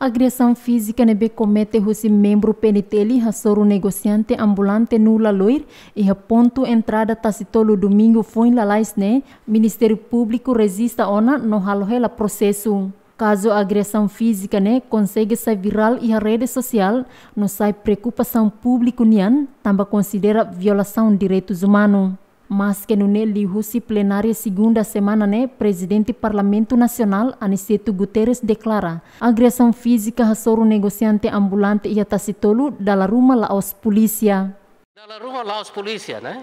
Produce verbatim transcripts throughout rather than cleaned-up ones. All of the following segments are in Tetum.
Agresaun fízika ne'ebé komete husi membru P N T L hasoru negosiante ambulante Nula Loir iha pontu entrada Tasitolu domingu foin lalais ne'e, Ministériu Públiku rejista ona no halo hela prosesu. Kazu agresaun fízika ne'e konsege sai virál iha rede sosiál no sai preokupasaun públiku nian, tanba konsidera violasaun direitus umanu. Maske nune'e, liuhusi plenária segunda semana ne'e, Prezidente Parlamentu Nasionál Aniceto Guterres deklara agresaun fízika hasoru negosiante ambulante iha Tasitolu dala ruma la'ós polísia. Dala ruma la'ós polísia, ne'e?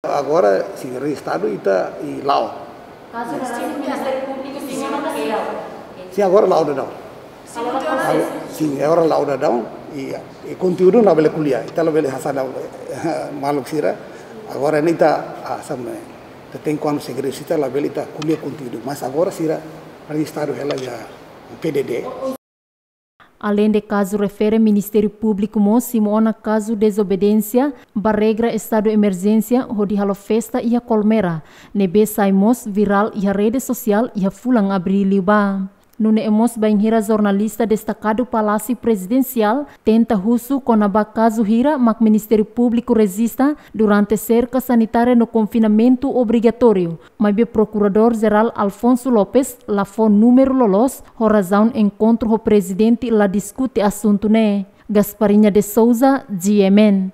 Agora, sin, rejistadu ita i la'o. Kazu ne'e Ministériu Públiku sin ona ka seidauk? Sin, agora la'o daudaun. Sin, agora la'o daudaun. I, i konteúdu labele ko'alia. Ita labele hasa'e ba maluk sira. Agora ne'e ita, ah, sabe, ita tenke kuandu segredu, ita labele ita ko'alia konteúdu. Mas agora sira rejistadu hela iha P D D. Aleinde kazu refere, Ministériu Públiku mós simu ona kazu dezobediénsia ba regra estadu emerjénsia hodi halo festa iha Colmera, ne'ebé sai mós virál iha rede sosiál iha fulan Abríl liubá. Nune'e mós bainhira jornalista destakadu Palásiu Prezidensiál tenta husu kona-ba kazu hira mak Ministériu Públiku rejista durante serka sanitária no konfinamentu obrigatóriu, maibé Prokuradór Jerál Alfonso Lopes la fó númeru loloos, ho razaun enkontru ho prezidente la diskute asuntu ne'e. Gasparinha de Souza, G M N.